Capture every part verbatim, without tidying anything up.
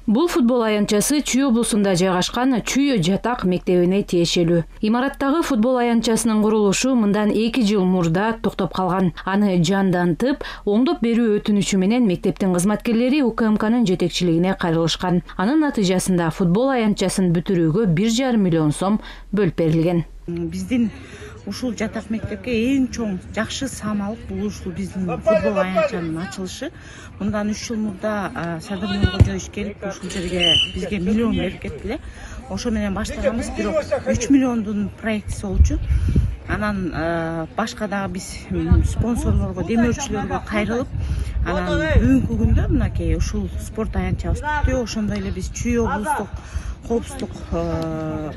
Бул футбол аянтчасы Чүй облусунда жайгашкан Чүй жатак мектебине тиешелүү. Имараттагы футбол аянтчасынын курулушу мындан эки жыл мурда токтоп калган. Аны жандантып, оңдоп берүү өтүнүчү менен мектептин кызматкерлери У К М К'нын жетекчилигине кайрылышкан. Анын натыйжасында футбол аянтчасын бүтүрүүгө бир жарым миллион сом бөлүп берилген. Биздин ушул жатак мектепке эң чоң жакшы саамалык бул ушул биздин футбол аянтчанын ачылышы. Мындан үч жыл мурда Садыр Нуркожоевич келип ушул жерге бизге миллион берип кетти эле. Ошо менен баштаганбыз, бирок үч миллиондун проектиси болчу. Анан башка дагы биз спонсорлорго, демөөрчүлөргө кайрылып, анан бүгүнкү күндө мынакей ушул спорт аянтчабыз бүттү. Ошондой эле биз Чүй облустук коопсуздук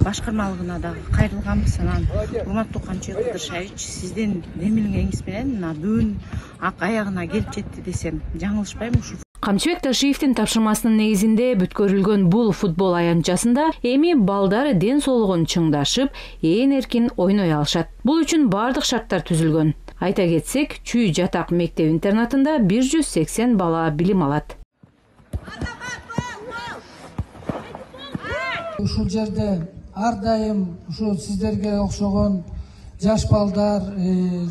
башкармалыгына дагы кайрылганбыз. Анан урматтуу Камчыбек Кыдыршаевич, сиздин демилгениңиз менен мына бүгүн ак аягына келип жетти десем жаңылышпайм. Ушу Камчыбек Ташиевдин тапшырмасынын негизинде бүткөрүлгөн бул футбол аянтчасында эми балдар ден соолугун чыңдашып, ээн эркин ойной алышат. Бул үчүн бардык шарттар түзүлгөн. Айта кетсек, Чүй жатак мектеп-интернатында бир жүз сексен бала билим алат. Ушул жерде ар дайым ушу сиздерге окшогон жаш балдар,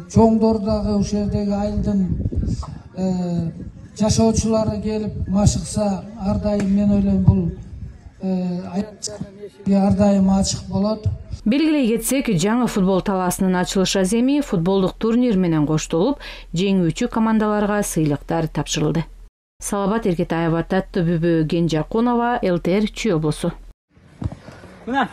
чоңдор дагы ушул жердеги айылдын жашоочулары келип машыкса, ар дайым мен ойлойм бул ар дайым ачык болот. Белгилей кетсек, жаңы футбол талаасынын ачылыш аземи футболдук турнир менен коштолуп, жеңүүчү командаларга сыйлыктар тапшырылды. Салабат Эркетаева, Татты Бүбү, Генжакунова, Л Т Р, Чүй облусу. Эй!